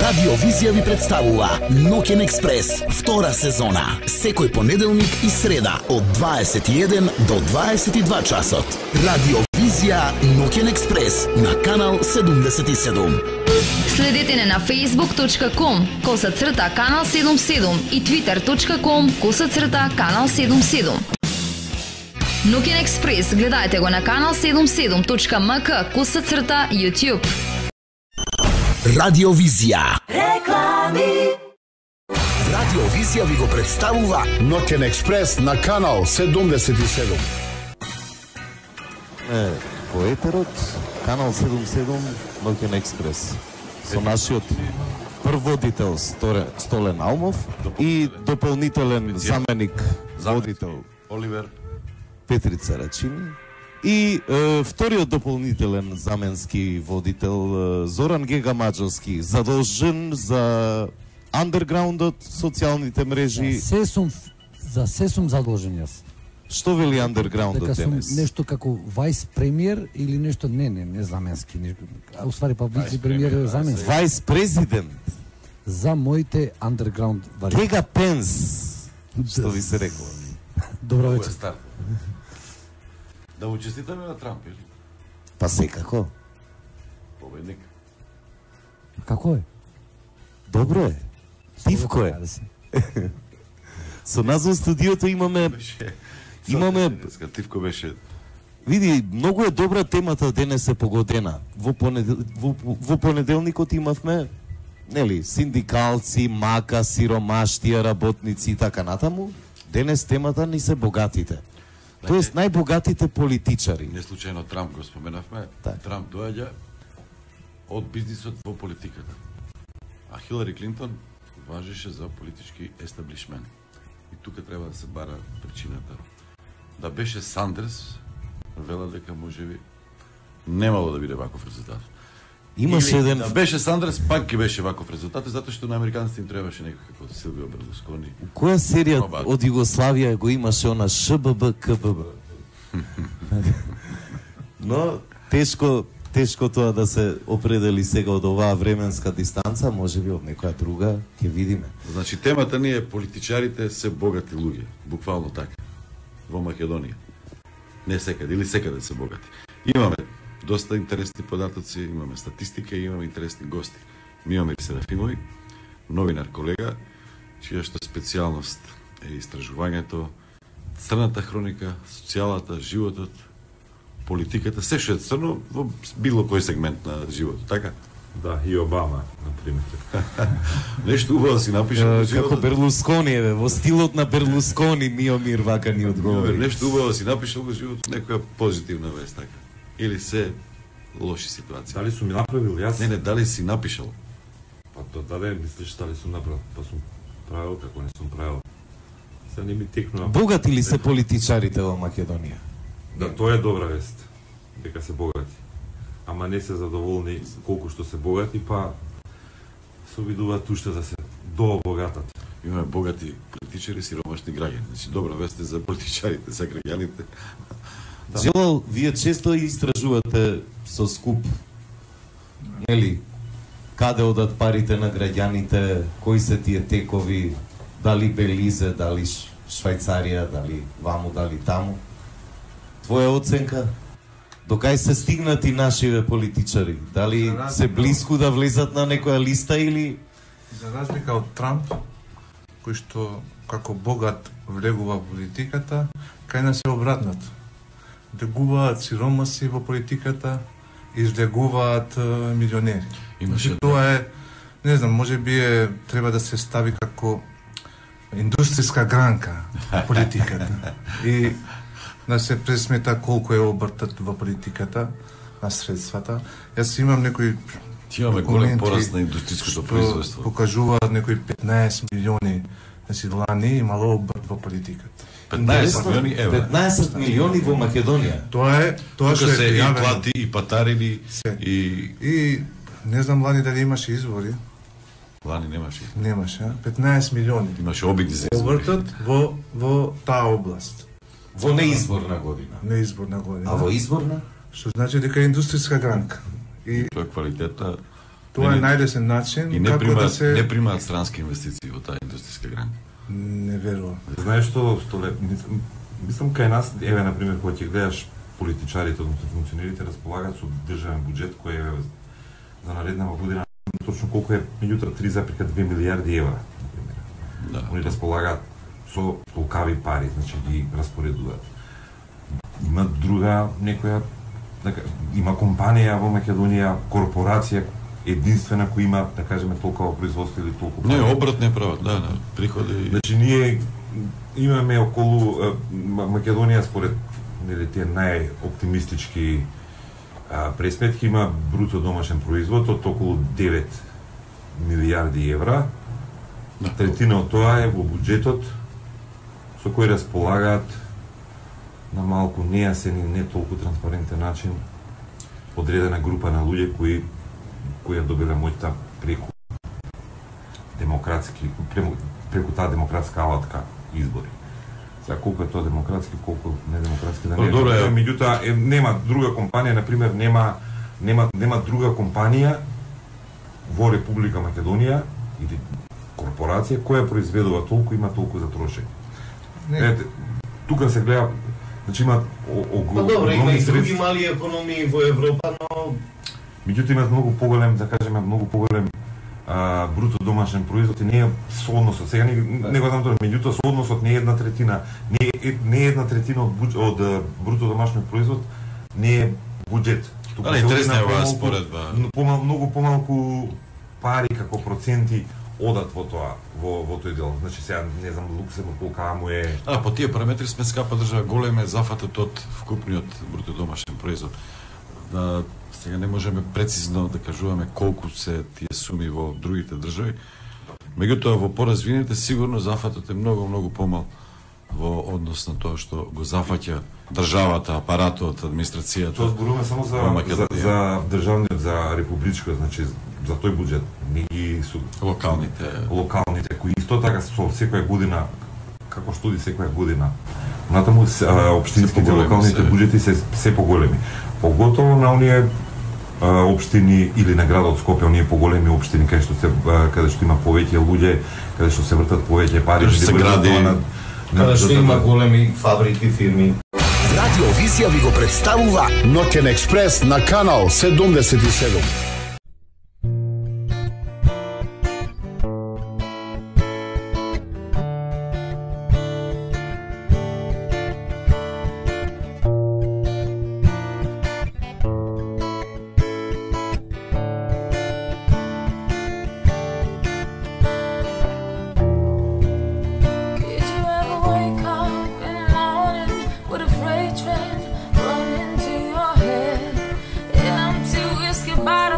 Радио Визија ви представува Ноќен експрес, втора сезона. Секој понеделник и среда од 21 до 22 часот. Радио Визија Ноќен експрес на канал 77. Следете не на facebook.com/канал 77 и twitter.com/канал 77. Ноќен експрес гледајте го на канал 77.mk/YouTube. Радио Визија. Реклами. Радио Визија ви го представува Ноќен експрес на канал 77. Во етерот, канал 77, Ноќен експрес. Со нашиот прводител Столен Алмов и дополнителен заменик водител Оливер Петрица Рачини и вториот дополнителен заменски водител Зоран Гега Маџовски, задолжен за андерграундот, социјалните мрежи. За се сум задолжен јас. Што вели андерграундот дека сум денес? нешто како вајс премиер или нешто не заменски, а уствари па вице премиер е заменски. Вајс президент За моите андерграунд варијанти. Гега Пенс, што ви се рекла. Добро вечер. Да му честитаме на Трамп, или? Па секако. Победник. Како е? Добро е. Тивко е. Со нас во студиото имаме Тивко беше. Види, многу е добра темата денес е погодена. Во понеделникот имавме, нели, синдикалци, мака, сиромаштија, работници и така натаму. Денес темата ни се богатите. Тоест најбогатите политичари. Не случајно Трамп го споменавме. Так. Трамп доаѓа од бизнисот во политиката. А Хилари Клинтон важеше за политички естаблишмент. И тука треба да се бара причината. Да беше Сандерс, вела дека можеби немало да биде ваков резултат. Имаше Или, еден... да беше Сандерс, пак ќе беше ваков резултат, затоа што на американците им требаше некој како Силвио Берлускони. Која серија од Југославија го имаше она ШББ, КББ? Но тешко тоа да се определи сега од оваа временска дистанца, можеби од некоја друга, ќе видиме. Значи темата ни е политичарите се богати луѓе, буквално така. Во Македонија. Не секаде, или секаде се богати. Имаме доста интересни податоци, имаме статистика и имаме интересни гости. Миомир Серафимови, новинар колега, чија што специјалност е истражувањето, црната хроника, социјалата, животот, политиката, се што е црно во било кој сегмент на животот, така? Да, и Обама, например. Нешто убаво си напишал. Како Берлускони е, во стилот на Берлускони, Миомир вака ни одговори. Нешто убаво си напишал во животот, некоја позитивна вест, така? Или се лоши ситуации? Дали сум ми направил јас? Не, дали си напишал? Па дали мислиш дали сум направил? Па сум правил како не сум правил. Се не ми текнува. Богати ли се политичарите во Македонија? Да, тоа е добра вест. Дека се богати. Ама не се задоволни колку што се богати, па се обидуваат уште да се дообогатат. Имаме богати политичари, сиромашни граѓани. Значи, добра вест е за политичарите, за граѓаните. Желал, вие често истражувате со скуп, нели, каде одат парите на граѓаните, кои се тие текови, дали Белизе, дали Швајцарија, дали ваму, дали таму. Твоја оценка? Докај се стигнати нашиве политичари? Дали се близко да влезат на некоја листа или... За разлика од Трамп, кој што како богат влегува во политиката, кај нас е обратното. Влегуваат сиромаси во политиката, излегуваат милионери. Имаше Тоа е, не знам, можеби треба да се стави како индустријска гранка во политиката. И да се пресмета колку е обртот во политиката на средствата. Јас имам некои имаме голем пораст на индустријското производство. Покажуваат некои 15 милиони, значи лани имало обрт во политиката. 15 милиони евра. 15 милиони во Македонија. Тоа Тука што се е и пријавено. плати, и патарини, и... И не знам лани дали имаше избори. Лани немаше. Немаше, 15 милиони. Имаше обиди за избори. Обртот во таа област. Во неизборна година. Неизборна година. А во изборна? Што значи дека е индустријска гранка. И Тоа е квалитета Тоа е најлесен начин и не како примаат, да се не примаат странски инвестиции во таа индустријска гранка. не верувам. Знаеш што мислам кај нас, еве на пример кога ќе гледаш политичарите, односно функционерите располагаат со државен буџет кој е за нареднава година точно колку е, меѓутоа 3,2 милиарди евра, на пример. Да. Они располагаат со толкави пари, значи ги распоредуваат. Има друга некоја има компанија во Македонија, корпорација единствена која има, да кажеме, толкова производство или толку пари. Не, обрат не прават, да, приходи. Значи ние имаме околу Македонија според нели тие најоптимистички пресметки има бруто домашен производ од околу 9 милиарди евра. Третина од тоа е во буџетот со кој располагаат на малку нејасен и не толку транспарентен начин одредена група на луѓе кои добила моќта преку таа демократска алатка избори. Сега колку е тоа демократски, колку недемократски да не е. Меѓутоа нема друга компанија, на пример нема друга компанија во Република Македонија или корпорација која произведува толку, има толку за трошење. Тука се гледа, значи има добро, има и други мали економии во Европа, но меѓутоа имаат многу поголем, да кажеме, многу поголем бруто домашен производ и не е соодносот. Сега не го знам тоа, меѓутоа соодносот не е 1/3, не е 1/3 од бруто домашен производ, не е буџет. Тука се интересна е оваа споредба. Многу помалку пари како проценти одат во тоа, во тој дел. Значи сега не знам Луксембург колка му е. По тие параметри сме скапа држава, голем е зафатот од вкупниот бруто домашен производ. Сега не можеме прецизно да кажуваме колку се тие суми во другите држави. Меѓутоа во поразвините сигурно зафатот е многу помал во однос на тоа што го зафаќа државата, апаратот, администрацијата. Тоа зборуваме само за државниот, за републичко, значи за тој буџет, не ги су локалните кои исто така со секоја година, како студи секоја година. Натаму општинските локалните буџети се поголеми. Поготово на оние општини или на градот Скопје, оние поголеми општини каде што има повеќе луѓе, каде што се вртат повеќе пари, каде што има големи фабрики, фирми. Радио Визија ви го представува Ноќен експрес на канал 77.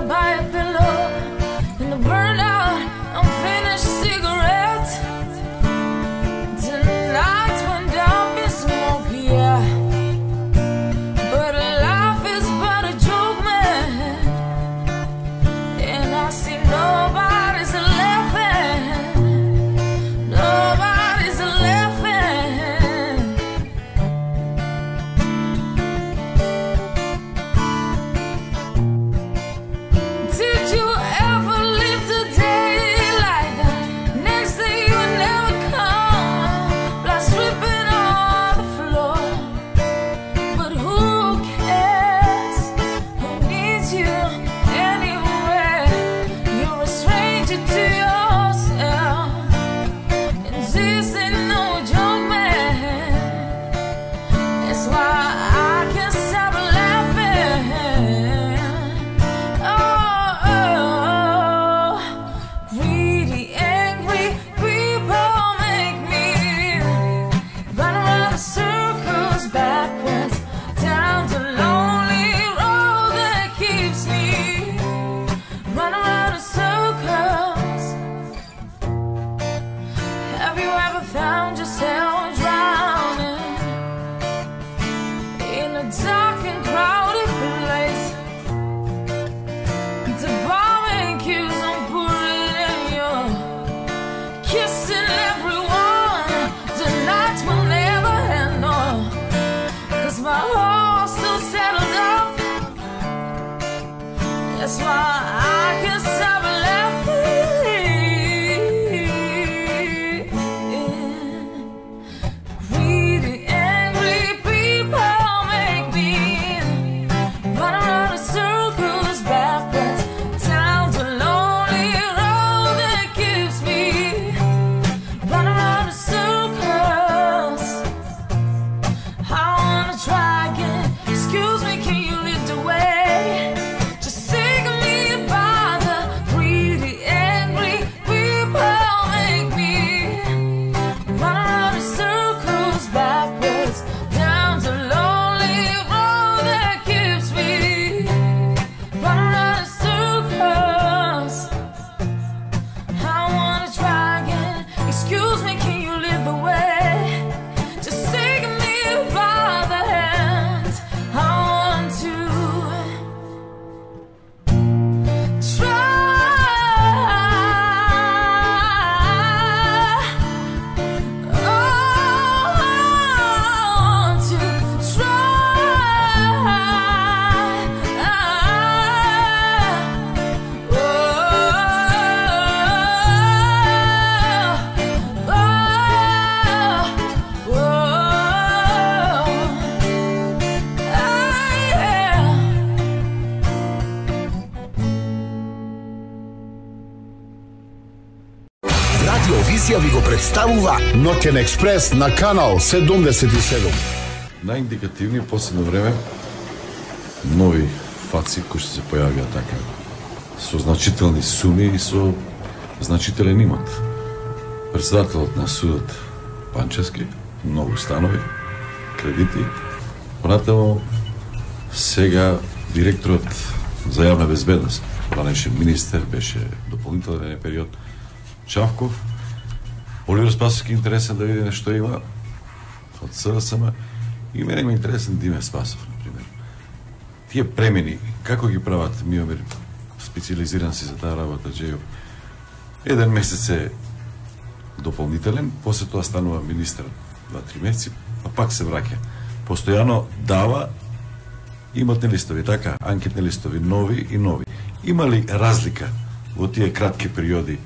Bye. Радио Визија ви го представува Ноќен експрес на канал 77. Наиндикативни последно време нови фаци кои што се појавија така со значителни суми и со значителен имот. Председателот на судот Панчевски, многу станови, кредити. Понатаму сега директорот за јавна безбедност, ранеше министер, беше дополнителен период Чавков. Оливер Спасовски интересен да види нешто има од СДСМ и мене ми интересен Диме Спасов, например. Тие премени, како ги прават Миомир, специализиран си за таа работа, Джејо. Еден месец е дополнителен, после тоа станува министер 2-3 месеци, а пак се враќа. Постојано дава имотни листови, така, анкетни листови, нови и нови. Има ли разлика во тие кратки периоди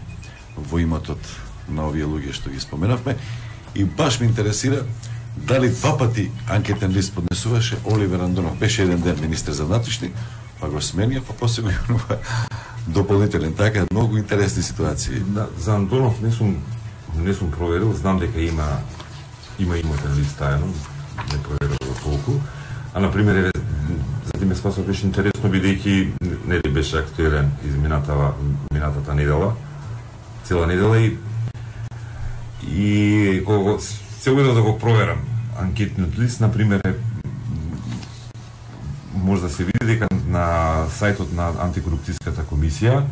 во имотот на овие луѓе што ги споменавме? И баш ме интересира дали два пати анкетен лист поднесуваше Оливер Андонов. Беше еден ден министер за внатрешни, па го сменија, па после го јавнува дополнителен. Така, многу интересни ситуации. Да, за Андонов не сум проверил, знам дека има имотен лист тајно, не проверил толку. А например, за Диме Спасов беше интересно бидејќи нели беше актуелен минатата недела, цела недела и кога се обидов да го проверам анкетниот лист, например, може да се види дека на сајтот на антикорупцијската комисија,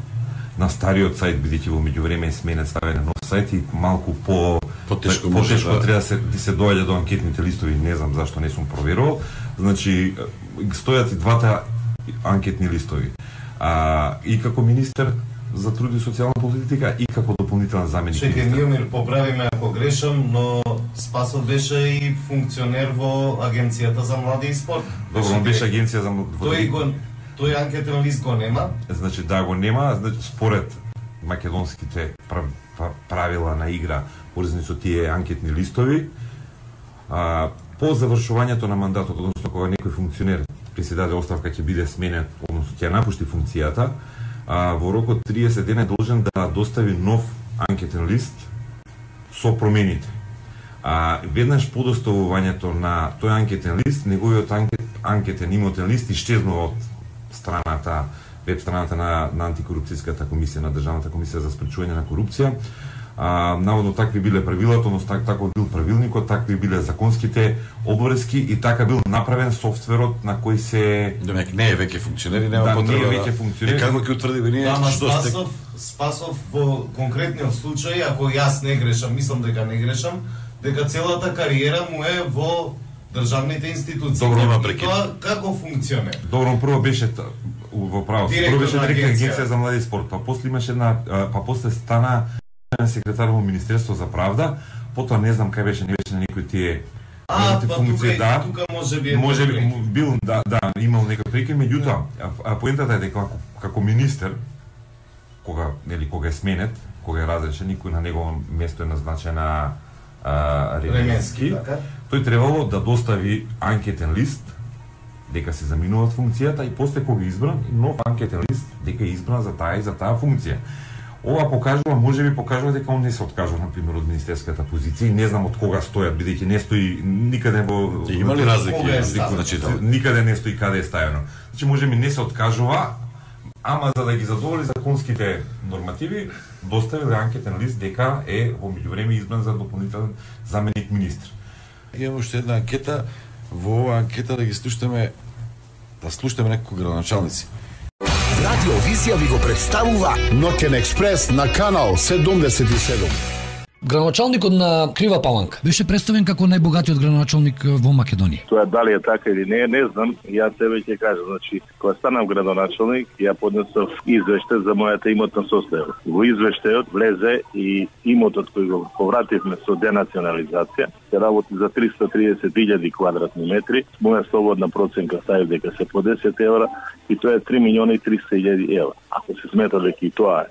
на стариот сајт, бидејќи во меѓувреме е сменет, ставен на нов сајт и малку потешко треба да се доаѓа до анкетните листови, не знам зашто не сум проверувал. Значи, стојат и двата анкетни листови. И како министер за труд и социјална политика и како дополнителен заменик. Чекај, Миомир, поправиме ако грешам, но Спасов беше и функционер во Агенцијата за млади и спорт. Добро, он беше агенција за тој анкетен лист го нема? Значи, да, го нема, значи, според македонските правила на игра, поврзани со тие анкетни листови, по завршувањето на мандатот, односно кога некој функционер се даде оставка, ќе биде сменет, односно ќе напушти функцијата, во рок од 30 дена е должен да достави нов анкетен лист со промените. Веднаш по доставувањето на тој анкетен лист, неговиот анкетен имотен лист исчезнува од страната, веб страната на антикорупцијската комисија, на Државната комисија за спречување на корупција. Наводно такви биле правилата, односно таков бил правилникот, такви биле законските обврски и така бил направен софтверот на кој се... Демек не е веќе функционер и нема потреба. Да, не е веќе функционер. Како ќе утврдиме ние што сте... Спасов во конкретниот случај, ако јас не грешам, мислам дека не грешам, дека целата кариера му е во државните институции. Добро, нема прекин. Тоа како функционер? Добро, прво беше во право. Прво беше директор на Агенција за млади и спорт, па после имаше после стана секретар во Министерство за правда, потоа не знам кај беше, не беше на некои тие функции, тука можеби бил, имал некој прекин, меѓутоа, поентата е дека како министер, кога е сменет, кога е разрешен, никој на негово место е назначен на Ременски, тој требало да достави анкетен лист дека се заминува од функцијата и после кога избран нов анкетен лист дека е избран за таа и за таа функција. Ова покажува, можеби покажува дека он не се откажува, например, од министерската позиција. Не знам од кога стојат, бидејќи не стои никаде во... Има ли разлики? Никаде не стои каде е ставено. Значи, можеби не се откажува, ама за да ги задоволи законските нормативи, доставил анкетен лист дека е во меѓувреме избран за дополнителен заменик министр. Имаме уште една анкета, во оваа анкета да слушаме некои градоначалници. Радио Визија ви го представува Ноќен експрес на канал 77. Градоначалникот на Крива Паланка беше представен како најбогатиот градоначалник во Македонија. Тоа дали е така или не знам. Ја тебе ќе кажам, значи, кога станав градоначалник, ја поднесов извештај за мојата имотна состојба. Во извештајот влезе и имотот кој го повративме со денационализација, се работи за 330.000 квадратни метри. Моја слободна проценка стави дека се по 10 евра и тоа е 3.300.000 евра. Ако се смета дека и тоа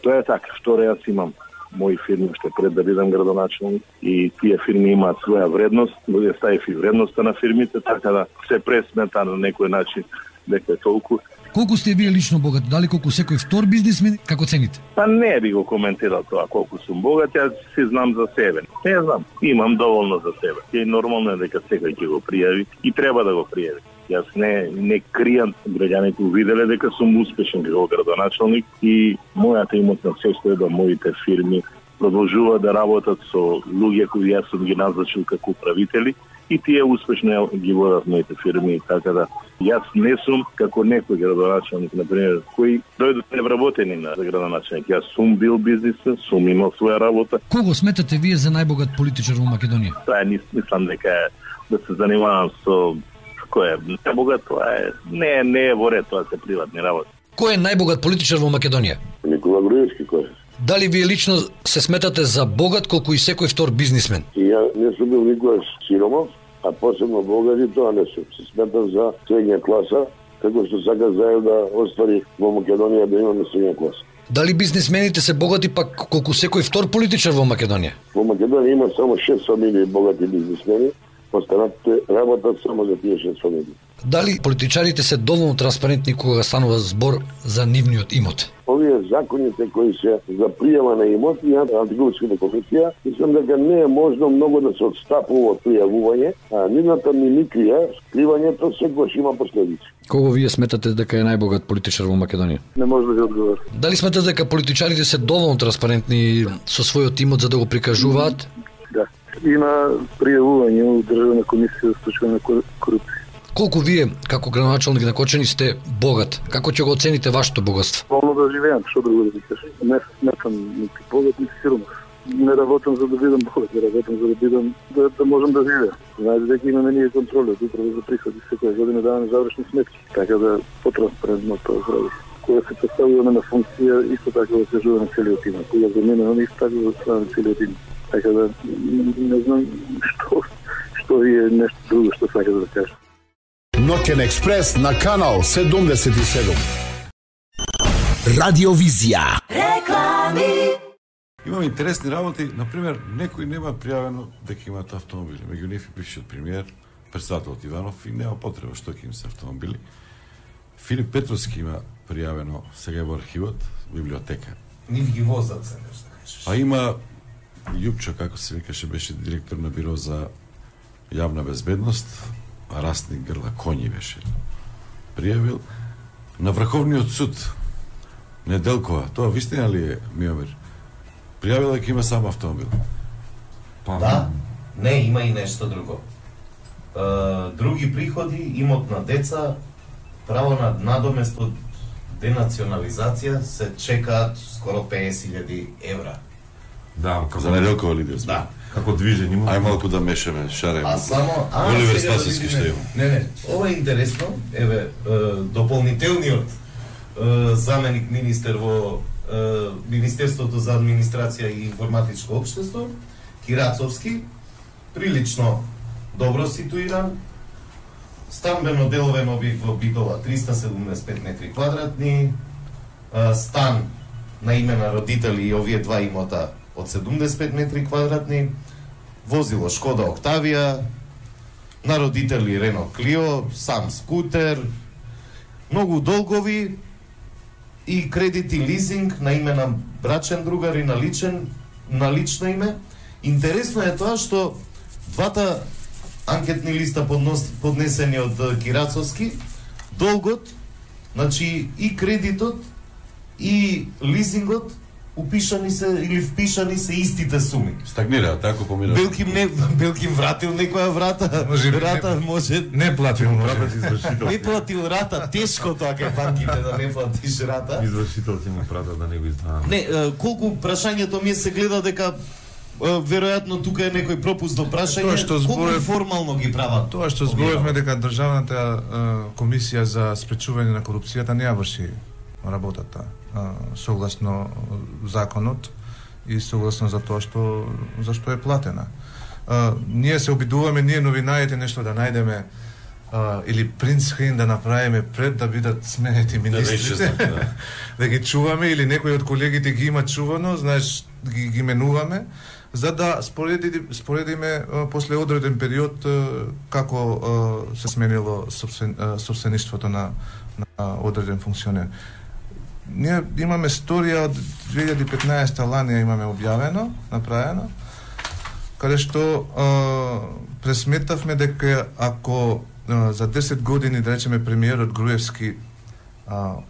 е така. Второ, јас имам мои фирми уште пред да бидам градоначалник и тие фирми имаат своја вредност, но ја ставив и вредноста на фирмите, така да се пресмета на некој начин дека е толку Колку сте вие лично богати? Дали колку секој втор бизнисмен? Како цените? Па не би го коментирал тоа колку сум богат, јас си знам за себе. Не знам, имам доволно за себе. И нормално е дека секој ќе го пријави и треба да го пријави. Јас не кријам, граѓаните увиделе дека сум успешен како градоначалник и мојата имотна состојба, моите фирми продолжува да работат со луѓе кои јас сум ги назначил како управители и тие успешно ги водат моите фирми, така да јас не сум како некој градоначалник, например, кои дојдат невработени на градоначалник. Јас сум бил бизнисмен, сум имал своја работа. Кого сметате вие за најбогат политичар во Македонија? Тоа мислам дека да се занимавам со кој е најбогат, тоа не е во ред, тоа се приватни работи. Кој е најбогат политичар во Македонија? Никола Груевски, кој е? Дали вие лично се сметате за богат колку и секој втор бизнисмен? Ја не сум бил никогаш сиромав, а посебно богат и тоа не сум. Се сметам за средња класа, како што сака заедно да оствари во Македонија да имаме средња класа. Дали бизнисмените се богати пак колку секој втор политичар во Македонија? Во Македонија има само 6 фамилии богати бизнисмени, останатите работат само за тие 6 фамилии. Дали политичарите се доволно транспарентни кога станува збор за нивниот имот? Овие законите кои се за пријава на имот и антикорупската комисија, мислам дека не е можно многу да се отстапува од пријавување, а нивната мимикрија, скривањето секогаш има последици. Кого вие сметате дека е најбогат политичар во Македонија? Не може да ви одговорам. Дали сметате дека политичарите се доволно транспарентни со својот имот за да го прикажуваат? Да. Има пријавување од Државна комисија за спречување на корупција. Колку вие, како градоначалник на Кочани, сте богат? Како ќе го оцените вашето богатство? Волно да живеам, што друго да ви кажам. Не сметам нити богат, нити сиромах. Не работам за да бидам богат, не работам за да бидам да можам да живеам. Знаете дека имаме ние контроли од управа за приходи, секоја година даваме завршни сметки, така да потранспарентно тоа прави. Кога се поставуваме на функција, исто така да се жува на целиот имот. Кога заминуваме, исто така да се на целиот имот. Така да не знам што ви е нешто друго што сака да кажа. Ноќен експрес на канал 77. Радиовизија. Реклами. Имам интересни работи, например, некој нема пријавено дека имаат автомобили. Меѓу нив и бившиот премиер, председателот Иванов, и нема потреба што ќе им се автомобили. Филип Петровски има пријавено, сега е во архивот, библиотека. Нив ги возат се, нешто кажеш. А има Јупчо, како се викаше, беше директор на биро за јавна безбедност, Растник Грла Коњи беше пријавил. На Врховниот суд Неделкова, тоа вистина ли е, Миомир? Пријавила дека има само автомобил. Да, не, има и нешто друго. Други приходи, имот на деца, право на надомест од денационализација се чекаат скоро 50.000 евра. Да, како за Неделкова ли да. Како движење има. Ај малку да мешаме, шареме. А само Оливер Спасовски што има. Не, ова е интересно. Еве дополнителниот заменик министер во Министерството за администрација и информатичко општество, Кирацовски, прилично добро ситуиран. Станбено деловен објект во Битола 375 метри квадратни, стан на име на родители и овие два имота од 75 метри квадратни, возило Шкода Октавија, на родители Рено Клио, сам скутер, многу долгови и кредити лизинг на име на брачен другар и на лично име. Интересно е тоа што двата анкетни листа поднесени од Кирацовски, долгот, значи и кредитот и лизингот упишани се или впишани се истите суми. Стагнира, тако помира. Белким вратил некоја врата. Може не платил извршител. Не платил рата, тешко тоа кај банките да не платиш рата. Извршител ти му прата да не го издава. Не, колку прашањето ми се гледа дека веројатно тука е некој пропуст до прашање, колку формално ги прават? Тоа што зборевме дека Државната комисија за спречување на корупцијата не ја врши работата согласно законот и согласно за тоа зашто е платена. Ние се обидуваме, ние новинарите нешто да најдеме или принтскрин да направиме пред да бидат сменети министрите, да ги чуваме или некој од колегите ги има чувано, знаеш, ги менуваме, за да споредиме после одреден период како се сменило собствеништвото на на одреден функционер. Ние имаме сторија од 2015 лани имаме објавено, направено, каде што пресметавме дека ако за 10 години, да речеме, премиерот Груевски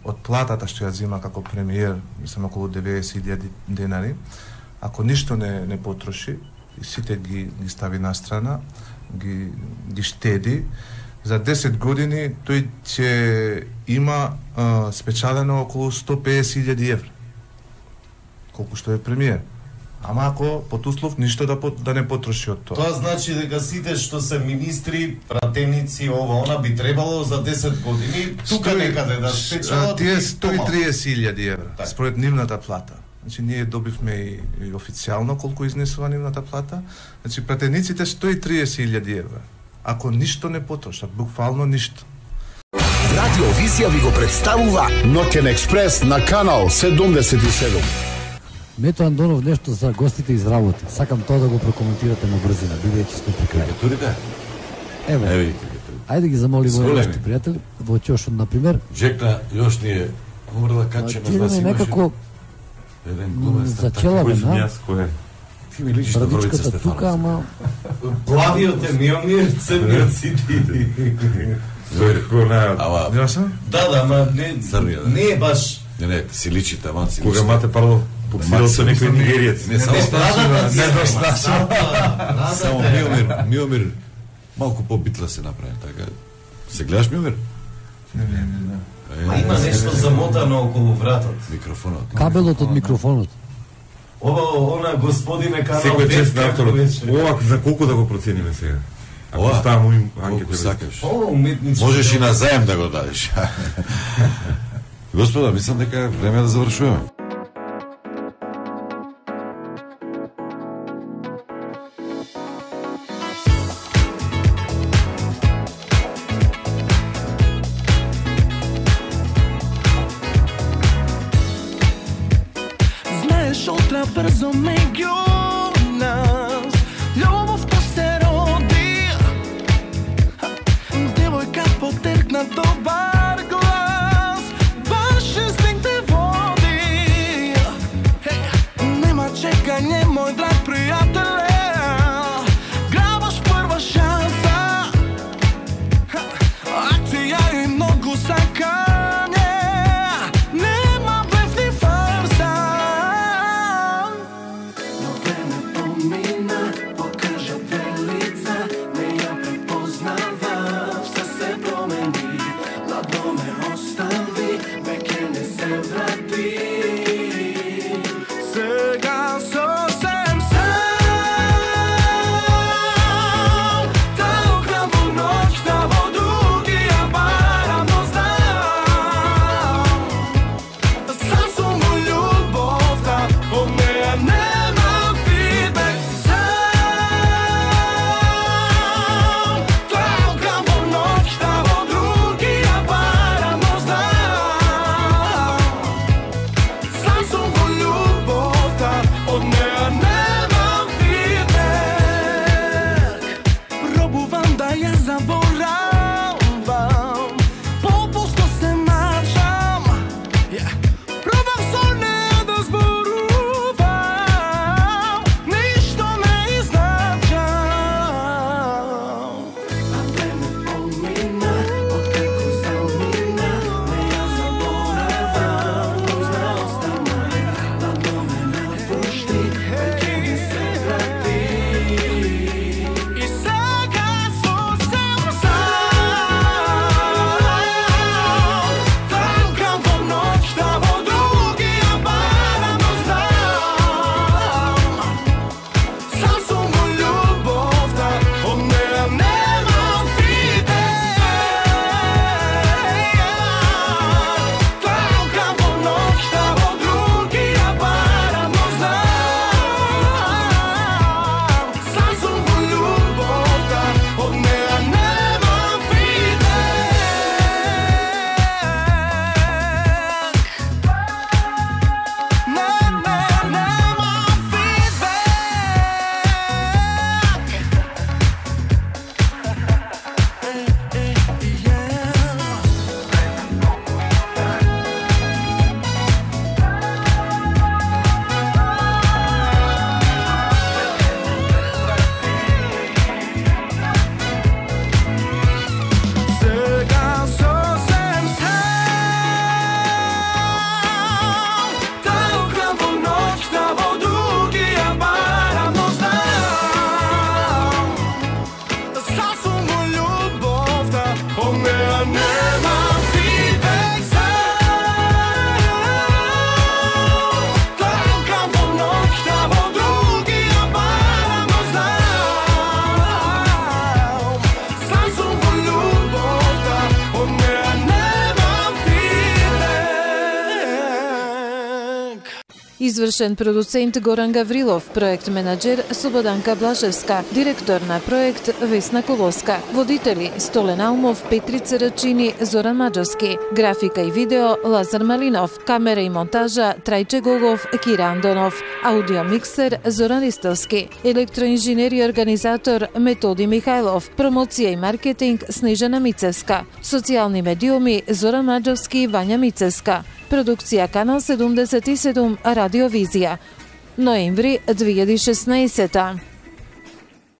од платата што ја зима како премиер, мислам околу 90.000 денари, ако ништо не потроши и сите ги стави на страна, ги штеди, за 10 години тој ќе има спечалено околу 150.000 евра. Колку што е премиер. Ама ако под услов ништо да не потроши од тоа. Тоа значи дека сите што се министри, пратеници, она би требало за 10 години тука некаде да спечалат тие 130.000 евра според нивната плата. Значи ние добивме и официјално колку изнесува нивната плата. Значи пратениците 130.000 евра. Ако ништо не потрошат, буквално ништо. Радио Визија ви го представува Ноќен експрес на канал 77. Мето Андонов нешто за гостите изработи. Сакам тоа да го прокоментирате на брзина, бидејќи сте при крај. Турите? Еве. Ајде ги замолиме нашите пријатели, во Ќошот на пример. Жекна још ни е мора да качеме за да некако еден глумец. Зачеламе на. Ти ми личиш на Вровица Стефанов. Тука, ама плавиот е Миомир, црниот си ти. Да, ама не е баш. Не, си личите, ама си кога мате парло подсирал со некој нигериец. Не само Миомир малку побитла се направи, така. Се гледаш Миомир? Не. Има нешто замотано околу вратот. Микрофонот. Кабелот од микрофонот. Она господине канал. Секој чест на авторот. Ова за колку да го процениме сега? Ако ставам им анкета сакаш. Уметнички. Можеш и на заем да го дадеш. Господа, мислам дека е време да завршуваме. Знаеш, утре брзо меѓу нас љубовта се роди. Девојка потеркна добар глас, баш инстинкт те води. Нема чекање, мој драг пријателе, грабаш прва шанса. Акција и многу сакање, нема блефни фарса. Но време помина, покажа две лица, не ја препознава, все се промени. Извршен продуцент Горан Гаврилов, проект менаџер Слободанка Блажевска, директор на проект Весна Колоска, водители Столен Алмов, Петрица Рачини, Зоран Маџовски, графика и видео Лазар Малинов, камера и монтажа Трајче Гогов, Кира Андонов, аудио миксер Зоран Ристовски, електроинженер и организатор Методи Михајлов, промоција и маркетинг Снежана Мицевска, социјални медиуми Зоран Маџовски и Вања Мицевска, продукција Канал 77 Радиовизија, ноември 2016.